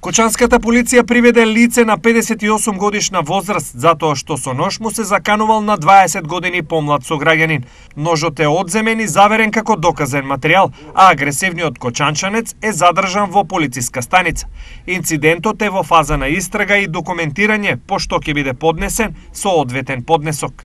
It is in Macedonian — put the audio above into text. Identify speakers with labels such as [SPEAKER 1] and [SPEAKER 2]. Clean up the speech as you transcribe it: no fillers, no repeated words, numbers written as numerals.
[SPEAKER 1] Кочанската полиција приведе лице на 58 годишна возраст затоа што со нож му се заканувал на 20 години помлад сограѓанин. Ножот е одземен и заверен како доказен материјал, а агресивниот кочанчанец е задржан во полициска станица. Инцидентот е во фаза на истрага и документирање, пошто ќе биде поднесен со одветен поднесок.